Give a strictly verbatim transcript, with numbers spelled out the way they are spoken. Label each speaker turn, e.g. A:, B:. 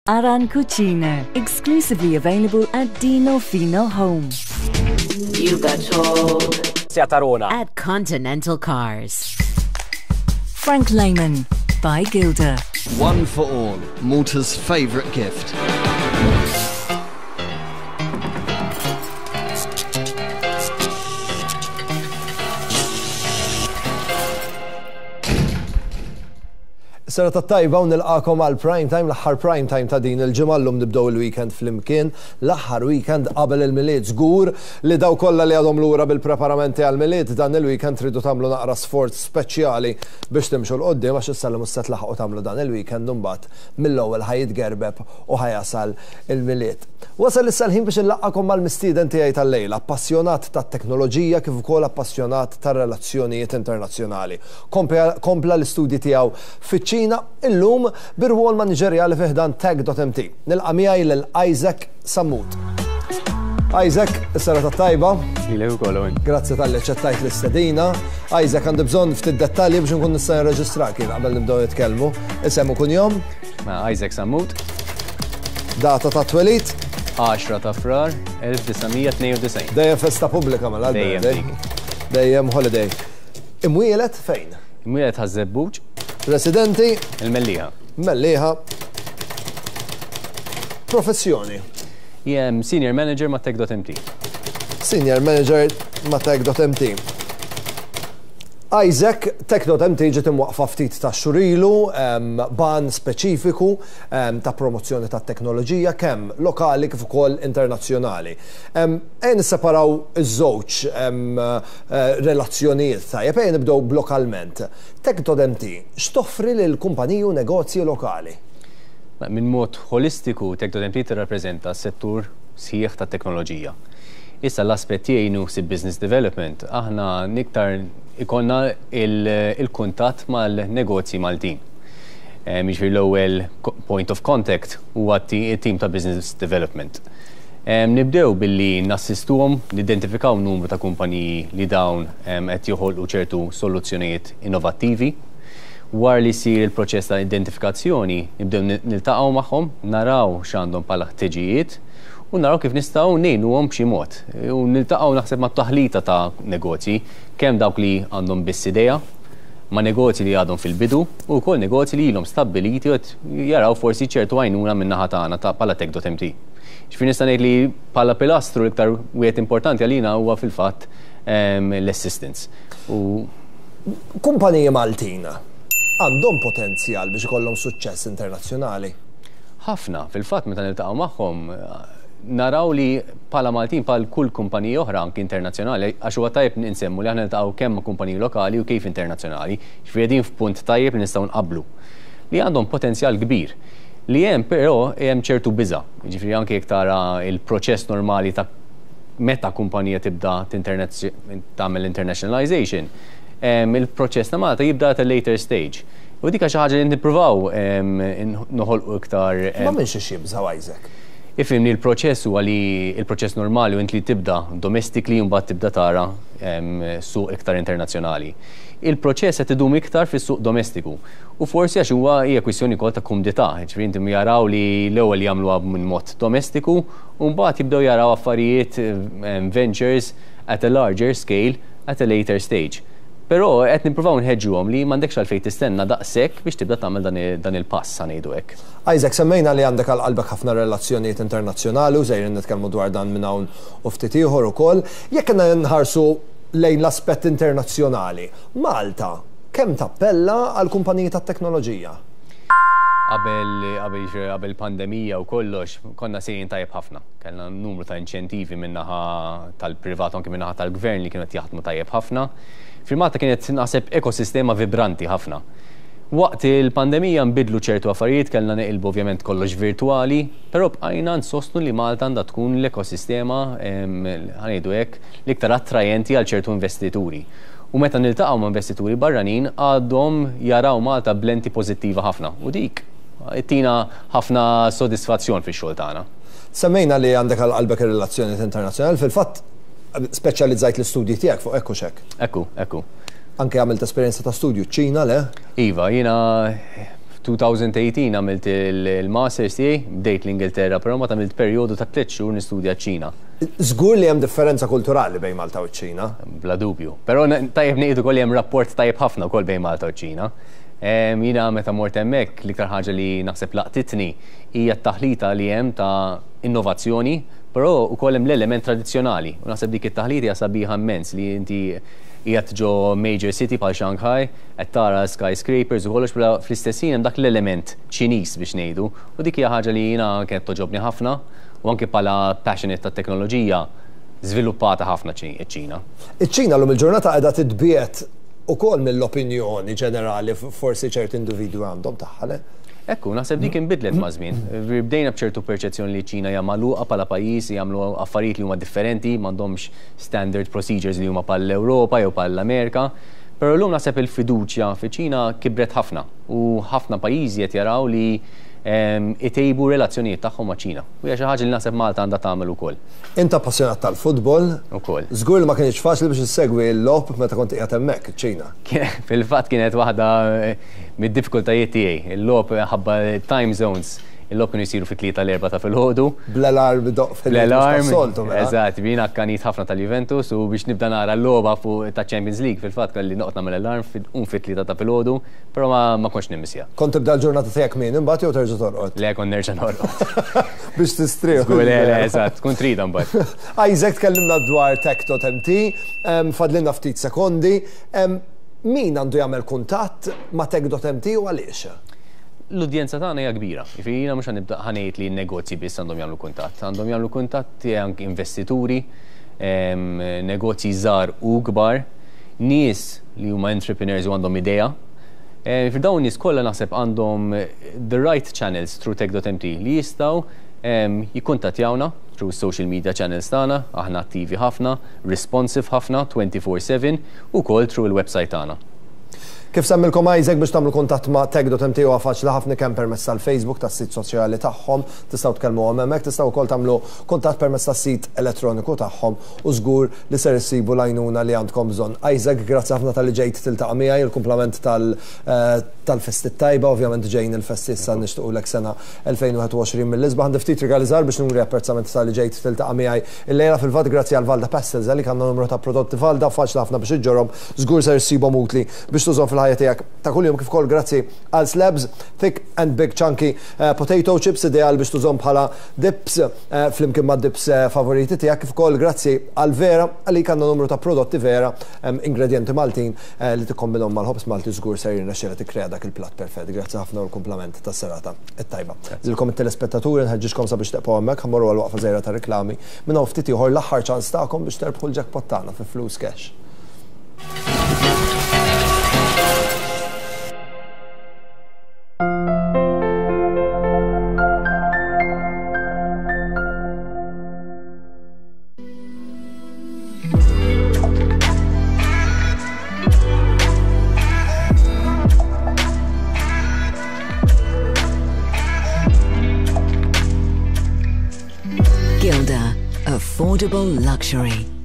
A: Aran Cucina, exclusively available at Dino Fino Home.
B: You got told.
C: Tarona.
B: At Continental Cars.
A: Frank Lehman by Gilda.
D: One for all, Malta's favourite gift.
E: Serata tajba u nilqakom għal prime time, l-aħħar prime time ta' din il-ġimgħa. Llum nibdew il-weekend flimkien, l-aħħar weekend qabel il-Milied. Żgur li daw kollha li għadhom lura bil-preparamenti għal-Milied, dan il-weekend tridu tagħmlu naqra sforz speċjali biex timxu 'l quddiem, għax issa li mhux se tlaħqu tagħmlu dan il-weekend, imbagħad mill-ewwel ħa jitgerbeb u ħa jasal il-Milied. Wasal issa l-ħin biex nlaqqakom mal-mistieden tiegħi tal-lejla, appassjonat tat-teknoloġija kif ukoll appassjonat tar-relazzjonijiet internazzjonali. Kompla l-istudji tiegħu fiċ-Ċina, illum bir-rwol maniġerjali fi ħdan Tech dot M T. Nilqa' miegħi lil Isaac Sammut. Isaac, is-serata tajba.
F: Lilek ukoll, Owen.
E: Grazzi talli aċċettajt l-istedina. Isaac, għandi bżonn ftit dettalji biex nkun nista' nirreġistrak jien qabel nibdew nitkellmu. Isem u kunjom?
F: Ma Isaac Sammut.
E: Data ta' twelid?
F: għaxra ta' Frar elf disa' mija tnejn u disgħin.
E: Dejjem festa pubblika mela.
F: Dejjem
E: dejjem.
F: Dik.
E: Dejjem holiday. Imwieled fejn?
F: Imwieled Ħaż-Żebbuġ.
E: Residenti?
F: Il-Mellieħa.
E: Mellieħa. Professjoni?
F: Jien Senior Manager ma' Tech dot M T.
E: Senior Manager ma' Tech dot M T. Isaac, Tech dot M T ġiet imwaqfa ftit ta' xhur ilu, b'għan speċifiku ta' promozzjoni ta' teknoloġija kemm lokali kif ukoll internazzjonali. Ejja nisseparaw iż-żewġ eh, relazzjonijiet, tajjeb, ejja nibdew lokalment. Tech dot M T x'toffri lil kumpaniji u negozji lokali?
F: Minn mod holistiku, Tech dot M T tirrappreżenta s-settur sħiħ ta' teknoloġija. Issa l-aspett tiegħi nuħsib business development, aħna iktar ikollna il-kuntatt mal-negozji Maltin. Jiġifieri l-ewwel point of contact huwa t-team ta' business development. Nibdew billi nassistuhom, nidentifikaw numru ta' kumpaniji li dawn qed joħolqu ċertu soluzzjonijiet innovattivi. Wara li jsir il-proċess ta' identifikazzjoni, nibdew niltaqgħu magħhom, naraw x'għandhom bħala ħtiġijiet u naraw kif nistgħu ngħinuhom b'xi mod. U niltaqgħu naħseb ma' taħlita ta' negozji, kemm dawk li għandhom biss idea, ma' negozji li għadhom fil-bidu u wkoll negozji li ilhom stabbiliti u qed jaraw forsi ċertu għajnuna min-naħa tagħna ta' bħala Tech dot M T. Ġifieri nista' ngħid li bħala pilastru l-iktar wieħed importanti għalina huwa fil-fatt l-assistance. U
E: Kumpaniji Maltin għandhom potenzjal biex ikollhom suċċess internazzjonali?
F: Ħafna, fil-fatt meta niltaqgħu magħhom naraw li bħala Maltin, bħal kull kumpaniji oħra anki internazzjonali, għax huwa tajjeb ninsemmu li aħna niltaqgħu kemm ma' kumpaniji lokali u kif internazzjonali, ġifieri qegħdin f'punt tajjeb li nistgħu nqablu. Li għandhom potenzjal kbir. Li hemm però hemm ċertu biża', jiġifieri anke jekk tara il-proċess normali ta' meta kumpanija tibda tagħmel internationalization, il-proċess ta' Malta jibda at a later stage. U dik xi ħaġa li nippruvaw noħolqu iktar.
E: Ma minn xiex jibżaw, Isaac?
F: Ifhimni, il-proċess huwa li il-proċess normali u int li tibda domestically u mbagħad tibda tara suq iktar internazzjonali. Il-proċess qed idum iktar fis-suq domestiku. U forsi għax huwa hija kwistjoni wkoll ta' kumdità, ġifieri inti jaraw li l-ewwel jagħmluha minn mod domestiku u mbagħad jibdew jaraw affarijiet, ventures at a larger scale at a later stage. Però qed nippruvaw nħeġġuhom li m'għandekx għalfejn tistenna daqshekk biex tibda tagħmel dan il-pass, ngħidu hekk.
E: Isaac, semmejna li għandek għal qalbek ħafna relazzjonijiet internazzjonali u sejrin nitkellmu dwar dan minn hawn u ftit ieħor ukoll. Jekk nħarsu lejn l-aspett internazzjonali, Malta kemm tappella għal kumpaniji tat-teknoloġija?
F: Qabel qabel qabel pandemija u kollox konna sejrin tajjeb ħafna. Kellna numru ta' inċentivi min-naħa tal-privat, anke min-naħa tal-gvern, li kienu qed jaħdmu tajjeb ħafna. Fil-Malta kienet naħseb ekosistema vibranti ħafna. Waqt il-pandemija nbidlu ċertu affarijiet, kellna neqilbu ovvjament kollox virtuali, però bqajna nsostnu li Malta għandha tkun l-ekosistema, ħa ngħidu hekk, l-iktar attrajenti għal ċertu investituri. U meta niltaqgħu ma' investituri barranin, għadhom jaraw Malta b'lenti pożittiva ħafna. U dik tina ħafna sodisfazzjon fix-xogħol tagħna.
E: Semmejna li għandek għal qalbek ir-relazzjonijiet internazzjonali, fil-fatt speċjalizzajt l-istudji tiegħek fuq hekk u xek.
F: Ekku, ekku.
E: Anke għamilt esperjenza ta' studju ċ-Ċina, le?
F: Iva, jiena elfejn u tmintax għamilt il-masters tiegħi, bdejt l-Ingilterra, però ma għamilt perjodu ta' tliet xhur nistudja ċ-Ċina.
E: Żgur li hemm differenza kulturali bejn Malta u ċ-Ċina.
F: Bla dubju. Però tajjeb ngħidu wkoll hemm rapport tajjeb ħafna wkoll bejn Malta u ċ-Ċina. Jiena meta mort hemmhekk, l-iktar ħaġa li naħseb laqtitni hija t-taħlita li hemm ta' innovazzjoni, però ukoll hemm l-element tradizzjonali. U naħseb dik it-taħlita hija sabiħa immens, li inti qiegħed ġo major city bħal Shanghai, qed tara skyscrapers u kollox, bla fl-istess ħin hemm dak l-element Ċiniż biex ngħidu, u dik hija ħaġa li jiena kienet togħġobni ħafna, u anke bħala passionate tat-teknoloġija żviluppata ħafna ċ-Ċina.
E: Iċ-Ċina llum il-ġurnata qiegħda titbiegħed ukoll mill-opinjoni ġenerali forsi ċerti individwi għandhom tagħha, le?
F: Ekku, naħseb dik inbidlet ma' żmien. Bdejna b'ċertu perċezzjoni li ċina hija magħluqa bħala pajjiż, jagħmlu affarijiet li huma differenti, m'għandhomx standard procedures li huma bħall-Ewropa jew bħall-Amerika. Però llum naħseb il-fiduċja fi Ċina kibret ħafna u ħafna pajjiżi qed jaraw li itejbu relazzjonijiet tagħhom ma' Ċina. U hija xi ħaġa li naħseb Malta għandha tagħmel ukoll.
E: Int appassjonat tal-futbol.
F: Ukoll.
E: Żgur li ma kienx faċli biex issegwi l-logħob meta kont qiegħed hemmhekk iċ-Ċina.
F: Fil-fatt kienet waħda eh, mid-diffikultajiet tiegħi. Il-logħob ħabba time zones, il-logħob kienu jsiru fit-tlieta, l-erbgħa ta' filgħodu.
E: Bl-alarm doq
F: L-alarm.
E: Fil-soltu. Mela.
F: Eżatt, jiena akkanit ħafna tal-Juventus u biex nibda nara l-logħba fuq ta' Champions League, fil-fatt kelli noqgħod nagħmel alarm un fit-tlieta ta' filgħodu, però ma ma kontx nimmissja.
E: Kont tibda l-ġurnata tiegħek min imbagħad jew terġa' torqod?
F: Le, kont nerġa' norqod.
E: Biex tistrieħ.
F: Żgur, le, le, eżatt, tkun trida mbagħad.
E: Isaac, tkellimna dwar Tech dot M T, em, fadlilna ftit sekondi. Em, Min għandu jagħmel kuntatt ma' Tech dot M T u għaliex?
F: L-udjenza tagħna hija kbira. Jiġifieri jiena mhux ħanibda ħa ngħid li n-negozji biss għandhom jagħmlu kuntatt, għandhom jagħmlu kuntatt anke investituri, em, negozji żgħar u kbar, nies li huma entrepreneurs u għandhom idea. Eh, Fi dawn nies kollha naħseb għandhom the right channels through Tech dot M T li jistgħu em, jikkuntattjawna through social media channels tagħna, aħna attivi ħafna, responsive ħafna, twenty-four seven, u wkoll through il-website tagħna.
E: Kif semmilkom Isaac, biex tagħmlu kuntatt ma' Tech dot M T huwa faċli ħafna, kemm permezz tal-Facebook, tas-sit soċjali tagħhom, tistgħu tkellmuhom hemmhekk, tistgħu wkoll tagħmlu kuntatt permezz tas-sit elettroniku tagħhom u żgur li ser issibu l-għajnuna li għandkom bżonn. Isaac, grazzi ħafna talli ġejt tiltaqa' miegħi, il-kumplament tal- eh, tal-festi tajba, ovvjament ġejn il-festi issa, nixtiequlek sena elfejn u wieħed u għoxrin mill-isbaħ. Għandi ftit rigali żgħar biex nuri apprezzament talli ġejt tiltaqa' miegħi illejla. Fil-fatt grazzi għal Valda Pastels li għandna numru ta' prodotti Valda faċli ħafna biex iġġorhom, żgur ser issibhom utli biex tużhom fil-ħajja tiegħek ta' kuljum, kif ukoll grazzi għal Slabs, thick and big chunky uh, potato chips, ideal biex tużhom bħala dips uh, flimkien ma' dips uh, favoriti tiegħek, kif ukoll grazzi għal Vera għalik għandna numru ta' prodotti Vera, um, ingredienti Maltin uh, li tikkombinhom mal-ħobż Malti, żgur ser jirnexxiela tikkrea dak il-platt perfett. Grazzi ħafna u l-kumplament tas-serata it-tajba. Lilkom it-telespettaturi nħeġġiġkom sabiex tibqgħu hemmhekk, ħa mmorru għal waqfa żgħira ta' reklami. Minn hawn ftit ieħor l-aħħar ċans tagħkom biex terbħu l-jackpot tagħna fi flus cash.
A: Gilda, affordable luxury.